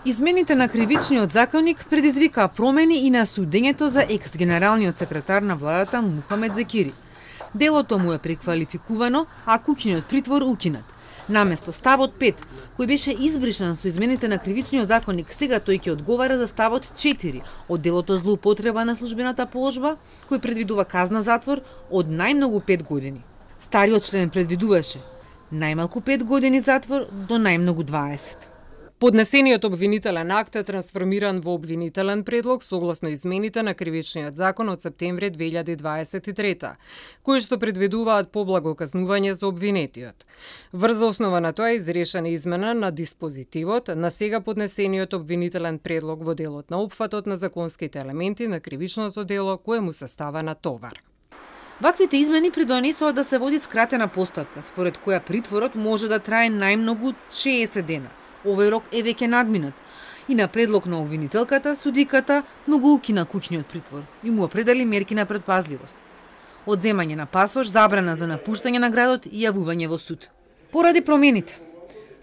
Измените на кривичниот законник предизвикаа промени и на судењето за екс-генералниот секретар на владата Мухамед Зекири. Делото му е преквалификувано, а куќниот притвор укинат. Наместо ставот 5, кој беше избрисан со измените на кривичниот законник, сега тој ќе одговара за ставот 4 од делото злоупотреба на службената положба, кој предвидува казна затвор од најмногу 5 години. Стариот член предвидуваше најмалку 5 години затвор до најмногу 20. Поднесениот обвинителен акт е трансформиран во обвинителен предлог согласно измените на кривичниот закон од септември 2023, кои што предвидуваат поблаго казнување за обвинетиот. Врз основа на тоа изрешена измена на диспозитивот на сега поднесениот обвинителен предлог во делот на опфатот на законските елементи на кривичното дело кое му се става на товар. Ваквите измени придонесоа да се води скратена постапка, според која притворот може да трае најмногу 60 дена. Овој рок е веќе надминат и на предлог на обвинителката, судиката му го укина куќниот притвор и му определи мерки на предпазливост. Одземање на пасош, забрана за напуштање на градот и јавување во суд. Поради промените,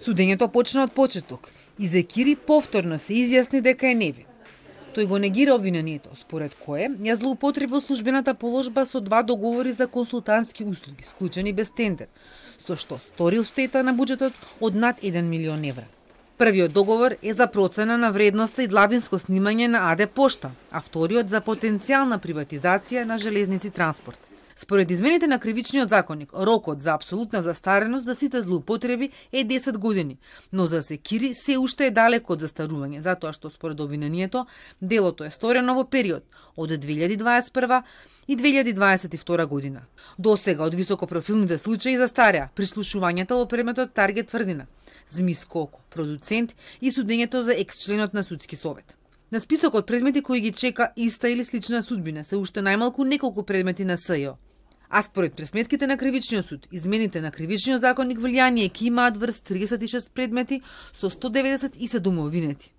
судењето почна од почеток и Зекири повторно се изјасни дека е невин. Тој го негира обвинението, според кое ја злоупотребил службената положба со 2 договори за консултантски услуги, склучени без тендер, со што сторил штета на буџетот од над 1 милион евра. Првиот договор е за процена на вредноста и длабинско снимање на АД Пошта, а вториот за потенцијална приватизација на железници транспорт. Според измените на кривичниот законник, рокот за апсолутна застареност за сите злоупотреби е 10 години, но за Зекири се уште е далеко од застарување, затоа што според обвинението делото е сторено во период од 2021 и 2022 година. До сега од високопрофилните случаи застареа прислушувањата во предметот Таргет тврдина, Змис Коко, продуцент и судењето за екс-членот на судски совет. На списокот предмети кои ги чека иста или слична судбина се уште најмалку неколку предмети на СЈО. А според пресметките на кривичниот суд, измените на кривичниот законник влијание ќе имаат врз 36 предмети со 197 обвинети.